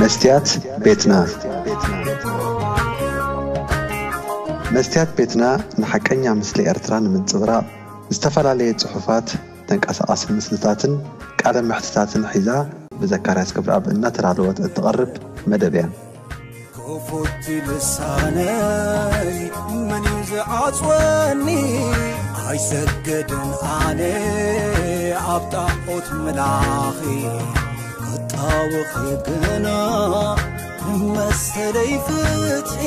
መስትያት ቤትና። መስትያት ቤትና ንሓቀኛ ምስሊ ኤርትራ ንምንጽብራቕ ዝተፈላለየ ጽሑፋት፣ ተንቀሳቓሲ ምስልታትን ቃለ መሕትታትን ሒዛ ብዘካርያስ ገብረኣብ እናተዳለወት እትቐርብ መደብ እያ። ክፉት ልሳነይ መን እዩ ዝዓጽወኒ? ኣይሰግድን ኣነ ኣብ ጣዖት ምላኺ፣ ክጣወኺ ግና መሰለይ ፍትሒ።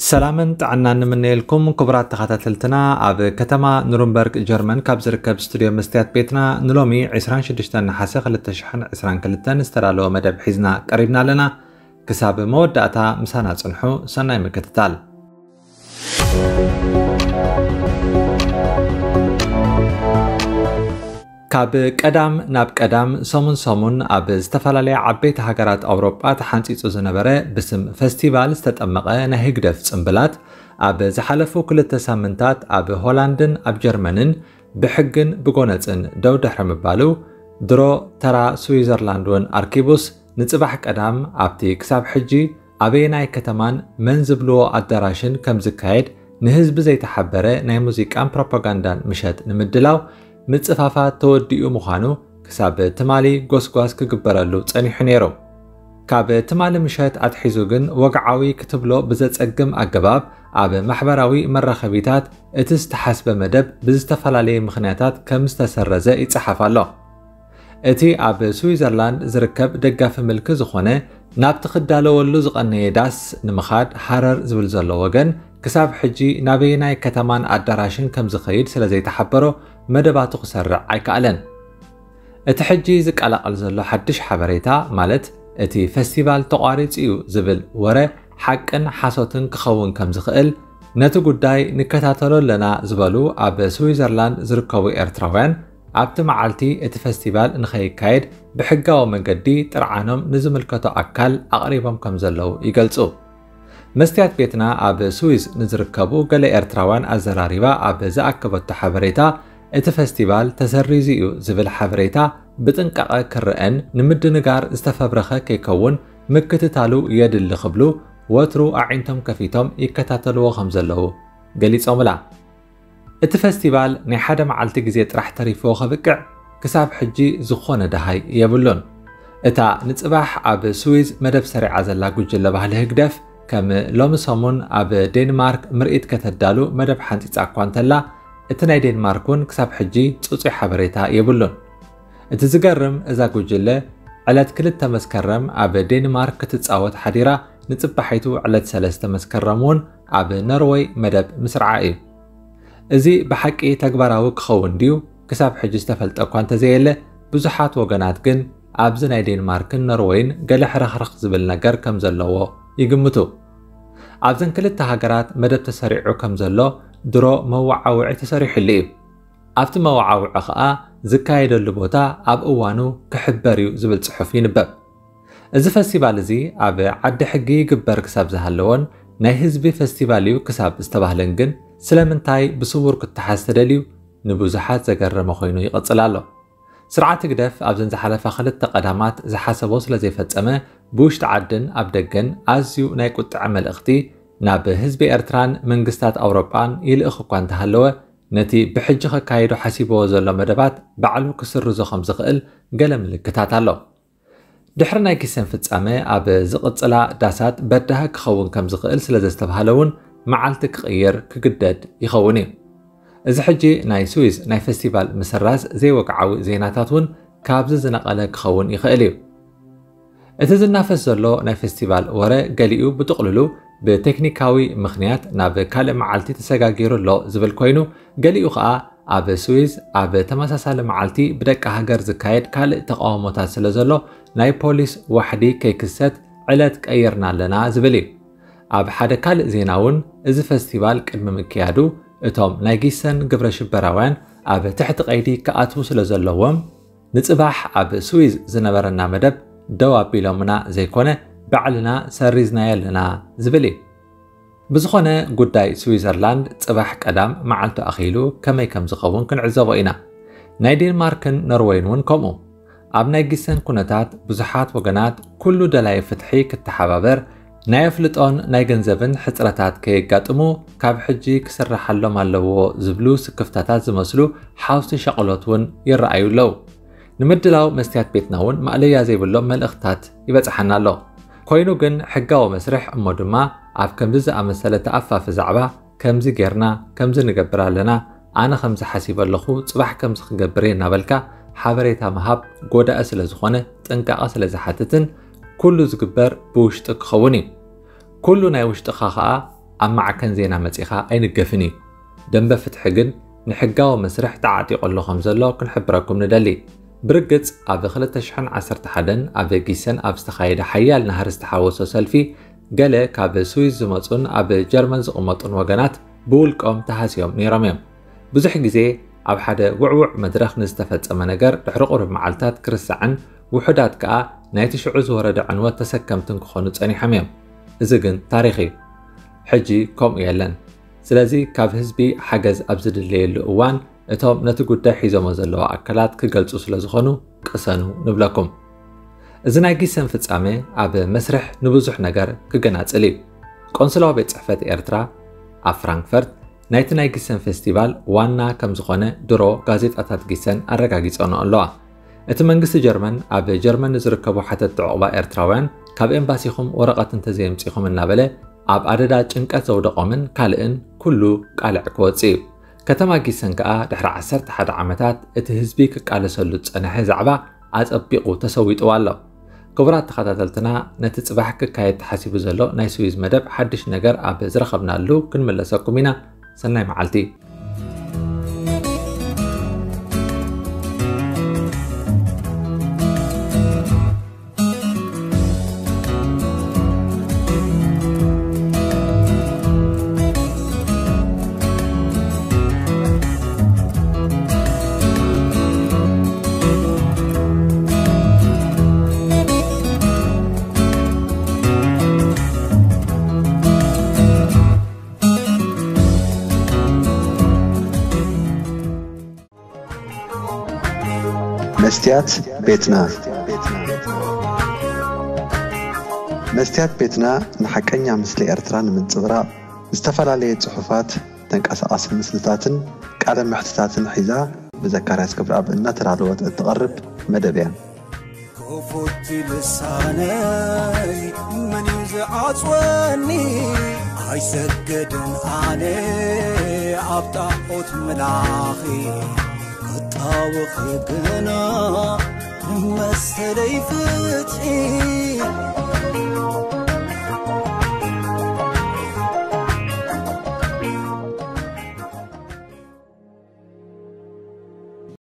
ሰላምን ጥዕናን ንምነየልኩም ክቡራት ተኸታተልትና። ኣብ ከተማ ኑርንበርግ ጀርመን ካብ ዝርከብ ስቱድዮ መስትያት ቤትና ንሎሚ ዕስራን ሽዱሽተን ነሓሰ ክልተ ሽሕን ዕስራን ክልተን ዝተዳለወ መደብ ሒዝና ቀሪብና ኣለና። ክሳብ መወዳእታ ምሳና ጽንሑ። ሰናይ ምክትታል። ካብ ቀዳም ናብ ቀዳም፣ ሰሙን ሰሙን ኣብ ዝተፈላለያ ዓበይቲ ሃገራት ኣውሮጳ ተሓንጺጹ ዝነበረ ብስም ፈስቲቫል ዝተጠመቐ ናይ ህግደፍ ጽምብላት፣ ኣብ ዝሓለፉ ክልተ ሳምንታት ኣብ ሆላንድን ኣብ ጀርመንን ብሕግን ብጎነጽን ደው ድሕሪ ምባሉ፣ ድሮ ተራ ስዊዘርላንድ እውን ኣርኪቡስ፣ ንጽባሕ ቀዳም ኣብቲ ክሳብ ሕጂ ኣበየናይ ከተማን መን ዝብልዎ ኣዳራሽን ከም ዝካየድ ንህዝቢ ዘይተሓበረ ናይ ሙዚቃን ፕሮፓጋንዳን ምሸት ንምድላው ምጽፋፋት ተወዲኡ ምዃኑ ክሳብ ትማሊ ጎስጓስ ክግበረሉ ጸኒሑ ነይሩ። ካብ ትማሊ ምሸት ኣትሒዙ ግን ወግዓዊ ክትብሎ ብዘጸግም ኣገባብ ኣብ ማሕበራዊ መራኸቢታት እቲ ዝተሓስበ መደብ ብዝተፈላለየ ምኽንያታት ከም ዝተሰረዘ ይጸሓፍ ኣሎ። እቲ ኣብ ስዊዘርላንድ ዝርከብ ደጋፊ ምልኪ ዝኾነ ናብቲ ክዳለወሉ ዝቐነየ ዳስ ንምኻድ ሃረር ዝብል ዘሎ ወገን ክሳብ ሕጂ ናበየናይ ከተማን ኣዳራሽን ከም ዝኸይድ ስለ ዘይተሓበሮ መደባቱ ክሰርዕ ኣይከኣለን። እቲ ሕጂ ዝቀላቐል ዘሎ ሓድሽ ሓበሬታ፣ ማለት እቲ ፈስቲቫል ተቋሪጹ እዩ ዝብል ወረ ሓቅን ሓሶትን ክኸውን ከም ዝኽእል፣ ነቲ ጉዳይ ንከታተሎ ኣለና ዝበሉ ኣብ ስዊዘርላንድ ዝርከቡ ኤርትራውያን፣ ኣብቲ መዓልቲ እቲ ፈስቲቫል ንኸይካየድ ብሕጋዊ መገዲ ጥርዓኖም ንዝምልከቶ ኣካል ኣቕሪቦም ከም ዘለዉ ይገልጹ። መስትያት ቤትና ኣብ ስዊዝ ንዝርከቡ ገለ ኤርትራውያን ኣዘራሪባ ኣብ ዝኣከበቶ ሓበሬታ፣ እቲ ፈስቲቫል ተሰሪዙ እዩ ዝብል ሓበሬታ ብጥንቃቐ ክረአን ንምድንጋር ዝተፈብረኸ ከይከውን ምክትታሉ የድሊ ክብሉ ወትሩ ኣዒንቶም ከፊቶም ይከታተልዎ ከም ዘለዉ ገሊጾምላ። እቲ ፈስቲቫል ናይ ሓደ መዓልቲ ግዜ ጥራሕ ተሪፍዎ ከብቅዕ ክሳብ ሕጂ ዝኾነ ደሃይ የብሉን። እታ ንጽባሕ ኣብ ስዊዝ መደብ ሰሪዓ ዘላ ጉጅለ ባህሊ ህግደፍ፣ ከም ሎሚ ሰሙን ኣብ ዴንማርክ ምርኢት ከተዳሉ መደብ ሓንጺጻ እኳ እንተላ፣ እቲ ናይ ዴንማርክ እውን ክሳብ ሕጂ ጽጹይ ሓበሬታ የብሉን። እቲ ዝገርም፣ እዛ ጉጅለ ዕለት ክልተ መስከረም ኣብ ዴንማርክ ክትጻወት ሓዲራ፣ ንጽባሒቱ ዕለት ሰለስተ መስከረም እውን ኣብ ኖርወይ መደብ ምስርዓ እዩ። እዚ ብሓቂ ተግባራዊ ክኸውን ድዩ? ክሳብ ሕጂ ዝተፈልጠ እኳ እንተዘየለ፣ ብዙሓት ወገናት ግን ኣብዚ ናይ ዴንማርክን ኖርወይን ገለ ሕርኽርኽ ዝብል ነገር ከም ዘለዎ ይግምቱ። ኣብዘን ክልተ ሃገራት መደብ ተሰሪዑ ከም ዘሎ ድሮ መወዓውዒ ተሰሪሑሉ እዩ። ኣብቲ መወዓውዒ ኸኣ ዝካየደሉ ቦታ ኣብ እዋኑ ክሕበር እዩ ዝብል ጽሑፍ ይንበብ። እዚ ፈስቲቫል እዚ ኣብ ዓዲ ሕጊ ይግበር ክሳብ ዝሃለዎን ናይ ህዝቢ ፈስቲቫል እዩ ክሳብ ዝተባህለን ግን ስለምንታይ ብስዉር ክተሓዝ ተደልዩ ንብዙሓት ዘገረመ ኮይኑ ይቕጽል ኣሎ። ስርዓት ህግደፍ ኣብዘን ዝሓለፋ ክልተ ቀዳማት ዝሓሰቦ ስለ ዘይፈጸመ ብውሽጢ ዓድን ኣብ ደገን ኣዝዩ ናይ ቁጥዐ መልእኽቲ ናብ ህዝቢ ኤርትራን መንግስታት ኣውሮጳን ይልእኽ እኳ እንተሃለወ ነቲ ብሕጂ ከካይዶ ሓሲብዎ ዘሎ መደባት ባዕሉ ክስርዞ ከም ዝኽእል ገለ ምልክታት ኣሎ። ድሕሪ ናይ ጊሰን ፍጻመ ኣብ ዝቕጽላ ዳሳት በዳሂ ክኸውን ከም ዝኽእል ስለ ዘስተብሃለ እውን መዓልቲ ክቕይር ክግደድ ይኸውን እዩ። እዚ ሕጂ ናይ ስዊዝ ናይ ፈስቲቫል ምስራዝ ዘይወግዓዊ ዜናታት እውን ካብዚ ዝነቐለ ክኸውን ይኽእል እዩ። እቲ ዝናፈስ ዘሎ ናይ ፈስቲቫል ወረ ገሊኡ ብጥቕልሉ ብቴክኒካዊ ምኽንያት ናብ ካልእ መዓልቲ ተሰጋጊሩ ኣሎ ዝብል ኮይኑ፣ ገሊኡ ኸኣ ኣብ ስዊዝ ኣብ ተመሳሳሊ መዓልቲ ብደቂ ሃገር ዝካየድ ካልእ ተቓውሞታት ስለ ዘሎ ናይ ፖሊስ ዋሕዲ ከይክሰት ዕለት ቀይርና ኣለና ዝብል እዩ። ኣብ ሓደ ካልእ ዜና እውን እዚ ፈስቲቫል ቅድሚ ምክያዱ እቶም ናይ ጊሰን ግብረ ሽበራውያን ኣብ ትሕቲ ቀይዲ ክኣትዉ ስለ ዘለዎም ንጽባሕ ኣብ ስዊዝ ዝነበረና መደብ ደው ኣቢሎምና ዘይኮነ ባዕልና ሰሪዝናዮ ኣለና ዝብል እዩ። ብዝኾነ፣ ጉዳይ ስዊዘርላንድ ጽባሕ ቀዳም መዓልቱ ኣኺሉ ከመይ ከም ዝኸውን ክንዕዘቦ ኢና። ናይ ዴንማርክን ኖርወይን እውን ከምኡ። ኣብ ናይ ጊሰን ኩነታት፣ ብዙሓት ወገናት ኩሉ ደላይ ፍትሒ ክተሓባበር፣ ናይ ኣፍልጦን ናይ ገንዘብን ሕጽረታት ከየጋጥሙ፣ ካብ ሕጂ ክስራሓሎም ኣለዎ ዝብሉ ስክፍታታት ዝመስሉ ሓውሲ ሻቕሎት እውን ይረኣዩ ኣለዉ። ንምድላው መስትያት ቤትና እውን ማእለያ ዘይብሎም መልእኽትታት ይበጽሓና ኣሎ። ኮይኑ ግን፣ ሕጋዊ መስርሕ እሞ ድማ ኣብ ከምዚ ዝኣመሰለ ተኣፋፊ ዛዕባ፣ ከምዚ ጌርና፣ ከምዚ ንገብር ኣለና፣ ኣነ ከምዚ ሓሲበ ኣለኹ፣ ጽባሕ ከምዚ ክገብር እየ እናበልካ ሓበሬታ ምሃብ ጎዳኢ ስለ ዝኾነ፣ ጥንቃቐ ስለ ዝሓትትን፣ ኩሉ ዝግበር ብውሽጢ ክኸውን እዩ። ኩሉ ናይ ውሽጥኻ ኸኣ ኣብ ማዕከን ዜና መጺኻ ኣይንገፍን እዩ። ደንበ ፍትሒ ግን ንሕጋዊ መስርሕ ተዓጢቑ ኣሎ ከም ዘሎ ክንሕብረኩም ንደሊ። ብርግጽ፣ ኣብ ክልተ ሽሕን ዓሰርተ ሓደን ኣብ ጊሰን ኣብ ዝተኻየደ ሓያል ናህሪ ዝተሓወሶ ሰልፊ፣ ገለ ካብ ስዊዝ ዝመጹን ኣብ ጀርመን ዝቕመጡን ወገናት ብውልቆም ተሃስዮም ነይሮም እዮም። ብዙሕ ግዜ ኣብ ሓደ ውዕዉዕ መድረኽ ንዝተፈጸመ ነገር ድሕሪ ቁሩብ መዓልታት ክርስዓን፣ ውሑዳት ከኣ ናይቲ ሽዑ ዝወረደ ዕንወት ተሰከምትን ክኾኑ ጸኒሖም እዮም። እዚ ግን ታሪኽ እዩ። ሕጂ ከምኡ የለን። ስለዚ፣ ካብ ህዝቢ ሓገዝ ኣብ ዝድለየሉ እዋን፣ እቶም ነቲ ጉዳይ ሒዞሞ ዘለዉ ኣካላት ክገልጹ ስለ ዝኾኑ፣ ቅሰኑ ንብለኩም። እዚ ናይ ጊሰን ፍጻመ ኣብ መስርሕ ንብዙሕ ነገር ክገናጽል እዩ። ቆንስላዊ ቤት ጽሕፈት ኤርትራ ኣብ ፍራንክፈርት ናይቲ ናይ ጊሰን ፌስቲቫል ዋና ከም ዝኾነ ድሮ ጋዜጣታት ጊሰን ኣረጋጊጸንኦ ኣለዋ። እቲ መንግስቲ ጀርመን ኣብ ጀርመን ንዝርከቡ ሓተትቲ ዑቕባ ኤርትራውያን፣ ካብ ኤምባሲኹም ወረቐት እንተዘየምጺኹም እናበለ ኣብ ኣደዳ ጭንቀት ዘውደቖምን ካልእን ኩሉ ቃልዕ ክወጽእ እዩ። ከተማ ጊሰን ከኣ ድሕሪ ዓሰርተ ሓደ ዓመታት እቲ ህዝቢ ክቃለሰሉ ዝጸንሐ ዛዕባ ኣጸቢቑ ተሰዊጥዋ ኣሎ። ክቡራት ተኸታተልትና፣ ነቲ ጽባሕ ክካየድ ተሓሲቡ ዘሎ ናይ ስዊዝ መደብ ሓድሽ ነገር ኣብ ዝረኸብናሉ ክንምለሰኩም ኢና። ሰናይ መዓልቲ። መስትያት ቤትና። መስትያት ቤትና ንሓቀኛ ምስሊ ኤርትራ ንምንጽብራቕ፣ ዝተፈላለየ ጽሑፋት፣ ተንቀሳቓሲ ምስልታትን ቃለ መሕትታትን ሒዛ፣ ብዘካርያስ ክብረኣብ እናተዳለወት እትቐርብ መደብ እያ። ክፉት ልሳነይ መን እዩ ዝዓጽወኒ? ኣይሰግድን ኣነ ኣብ ጣዖት ምላኺ፣ ክጣወኺ ግና መሰለይ ፍትሒ።